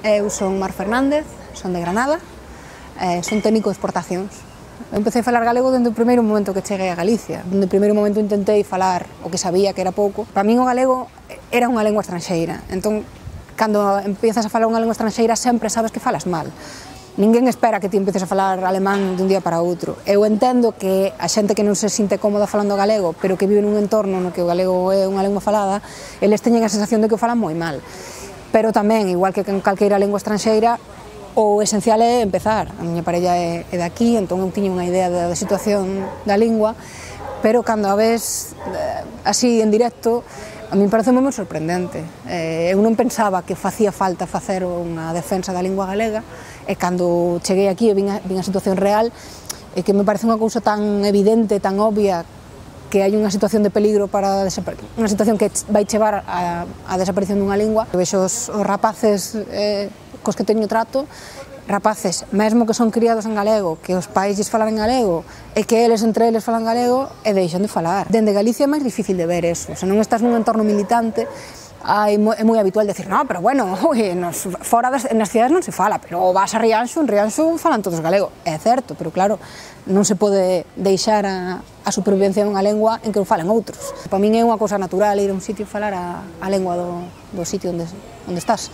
Eu son Mar Fernández, son de Granada, son técnico de exportacións. Eu empecé a falar galego dende o primeiro momento que cheguei a Galicia. Dende o primeiro momento intentei falar o que sabía, que era pouco. Para min o galego era unha lengua estranxeira, entón, cando empiezas a falar unha lengua estranxeira sempre sabes que falas mal. Ninguén espera que ti empieces a falar alemán dun día para outro. Eu entendo que a xente que non se sinte cómoda falando galego, pero que vive nun entorno no que o galego é unha lengua falada, eles teñen a sensación de que o falan moi mal. Pero tamén, igual que en calqueira lengua estranxeira, o esencial é empezar. A miña parella é daqui, entón eu tiña unha idea da situación da lingua, pero cando a ves así en directo, a min parece moi sorprendente. Eu non pensaba que facía falta facer unha defensa da lingua galega, e cando cheguei aquí e vin a situación real, é que me parece unha cousa tan evidente, tan obvia, que hai unha situación de peligro para unha situación que vai chevar á desaparición dunha lingua. Eu vexo os rapaces cos que teño trato, rapaces, mesmo que son criados en galego, que os pais lles falan en galego, e que eles entre eles falan galego, e deixan de falar. Dende Galicia é máis difícil de ver eso, se non estás nun entorno militante, é moi habitual decir, no, pero bueno, fora nas cidades non se fala, pero vas a Rianxo, en Rianxo falan todos galego. É certo, pero claro, non se pode deixar a supervivencia dunha lengua en que o falan outros. Para min é unha cousa natural ir a un sitio e falar a lengua do sitio onde estás.